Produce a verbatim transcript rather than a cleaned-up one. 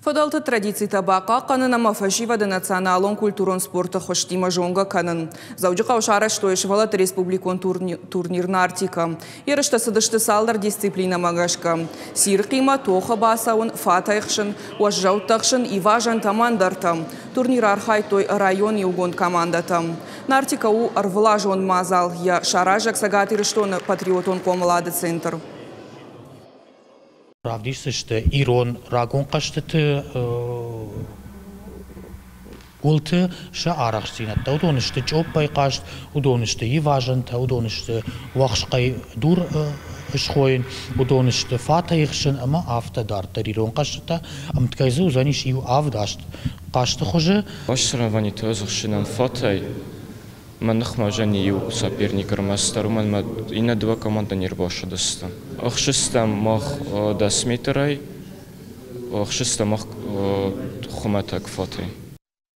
Фыдӕлты традицитӕ бахъахъхъӕнын ӕмӕ фӕсивӕды националон культурон спорты хуызтимӕ зонгӕ кӕнын. Дзӕуджыхъӕуы сарӕзтой сывӕллӕтты республикон турнир «Нартика». Ерыстӕ цыдысты цалдӕр дисциплинӕмӕ гӕсгӕ. Цирхъимӕ тохы бацӕуын, фатӕй ӕхсын, уӕззӕуттӕ ӕхсын, ивазӕнтӕ ӕмӕ ӕндӕртӕ. Турниры архайдтой районы иугонд командӕтӕ. «Нартика» у ӕрвылазон мадзал, йӕ саразӕг Цӕгат Ирыстоны патриотон хъомылады центр. Равдисдзысты ирон рагон хъӕзтыты уылты сӕ арӕхстдзинӕдтӕ. Уыдон сты чъоппӕй хъазт, уыдон сты ивазӕнтӕ, уыдон сты уӕхскъӕй дур схойын, уыдон сты фатӕй ӕхсын ӕмӕ афтӕ дарддӕр ирон хъӕзтытӕ. Ӕмткӕй дзы уыдзӕнис иу авд аст хъазты хуызы. Соревнованиты ӕз ӕхсынӕн фатӕй мӕ ныхмӕ уыдзӕни иу соперник ӕрмӕстдӕр, уымӕн ӕмӕ иннӕ дыууӕ командӕ не рбацыдысты. Ӕхсыстӕм мах дӕс метрӕй, ӕхсыстӕм мах хуымӕтӕг фатӕй.